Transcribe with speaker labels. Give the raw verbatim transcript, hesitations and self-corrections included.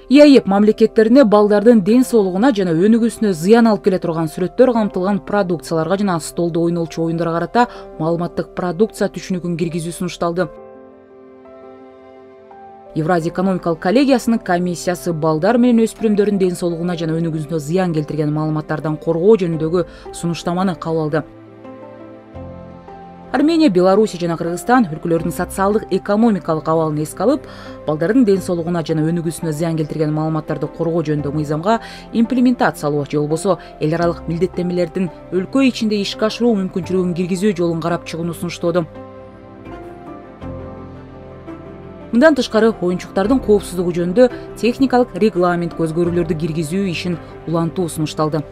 Speaker 1: ИАЭП мамлекеттерине балдардын ден соолугуна жана өнүгүүсүнө зыян алып келе турган сүрөттөр камтылган продукцияларга жана столдо ойнолчу оюндарга карата маалыматтык продукция түшүнүгүн киргизүү сунушталды. Евразия экономикалык коллегиясынын комиссиясы балдар менен өспүрүмдөрдүн ден соолугуна жана өнүгүүсүнө зыян келтирген маалыматтардан коргоо жөнүндөгү сунуштаманы кабыл алды. Армения, Белоруссия жана Кыргызстан өлкөлөрдүн социалдык экономикалык абалын эске алып, балдардын ден соолугуна жана өнүгүүсүнө зыян келтирген маалыматтарды коргоо жөнүндөгү мыйзамга имплементациялоо же болбосо эл аралык милдеттенмелердин өлкө ичинде ишке ашыруу мүмкүнчүлүгүн киргизүү жолун карап чыгууну сунуштоодо. Мындан тышкары, оюнчуктардын коопсуздугу жөнүндө техникалык регламентке өзгөрүүлөрдү киргизүү ишин улантуу сунушталды.